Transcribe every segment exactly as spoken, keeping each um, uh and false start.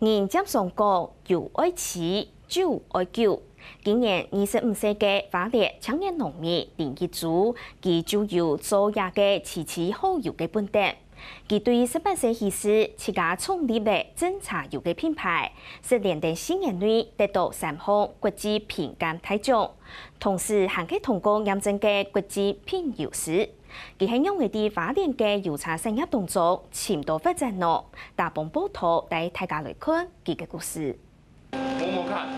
人輒常講，油愛肥，酒愛久。今年二十五歲个花蓮青年農民林一珠，佢就有做這个肥肥好油个本等。佢對十八歲起始，自家創立了真茶油个品牌，在連等四年內得到三項國際評鑑大獎，同時還去通過驗證个國際品油師。佢係仰仔在花蓮个油茶產業當中尋到發展呢？打幫報導帶大家來看佢个故事。 摸摸看，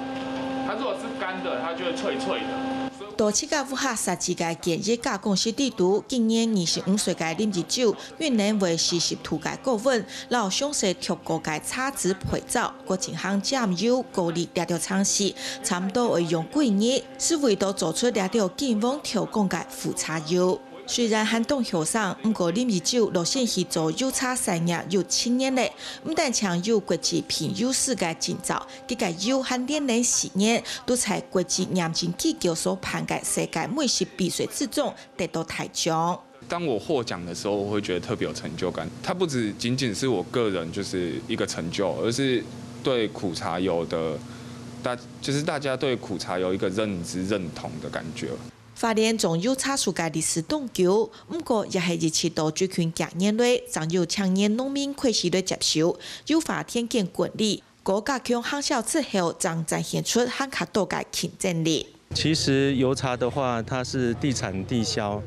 它如果是干的，它就会脆脆的。到自家屋下設置个簡易加工室底肚，今年二十五歲个林一珠，運用會四十度个高溫，摎詳細調過个茶籽配燥，過進行醬油、過濾這兜程序，差毋多會用幾日，係為到做出這兜金黃透光个苦茶油。 雖然還當後生，毋過林一珠落身去做油茶產業有七年了，毋單淨有國際品油師个證照，佢个油還連連四年都在國際認證機構所辦个世界美食比賽之中得到大獎。當我獲獎的時候，我會覺得特別有成就感。它不只僅僅是我個人就是一個成就，而是對苦茶油的大，就是大家對苦茶油一個認知認同的感覺。 花蓮種油茶樹个歷史當久，毋過也係一直到最近幾年來，正有青年農民開始來接手，優化田間管理，過加強行銷之後，正展現出還較多个競爭力。其實油茶的話，它是地產地銷，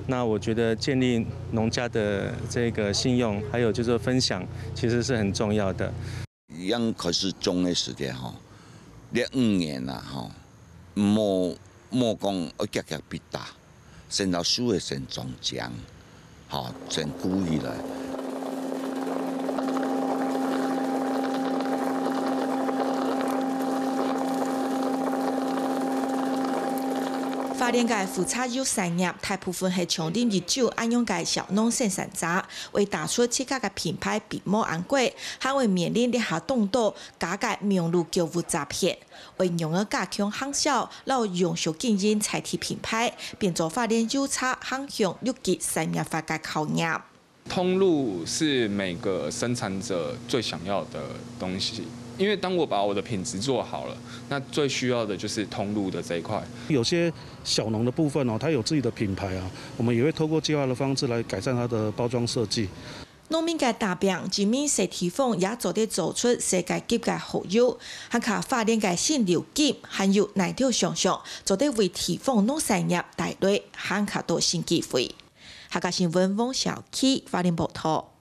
那我覺得建立農家的這個信用，還有就是分享，其實是很重要的。剛開始種个時節吼，這五年啊吼，無無講愛遽遽必打，先摎樹仔先種靚，吼，先顧起來。 花蓮个苦茶油產業大部分係像林一珠恁樣个小農生產者，為打出自家个品牌並無恁過，還會面臨這下當多假个網路購物詐騙。愛仰仔加強行銷，摎永續經營在地品牌，變做花蓮油茶行向綠色產業化个考驗。 通路是每個生產者最想要的東西，因為當我把我的品質做好了，那最需要的就是通路的這一塊。有些小農的部分哦，他有自己的品牌啊，我們也會透過計劃的方式來改善它的包裝設計。 農民个打拚，證明在地方也做得做出世界級个好油，還靠花蓮个新流金，還有哪兜想像，做得為地方農產業帶來還較多新機會。客家新聞黃小琪，花蓮報導。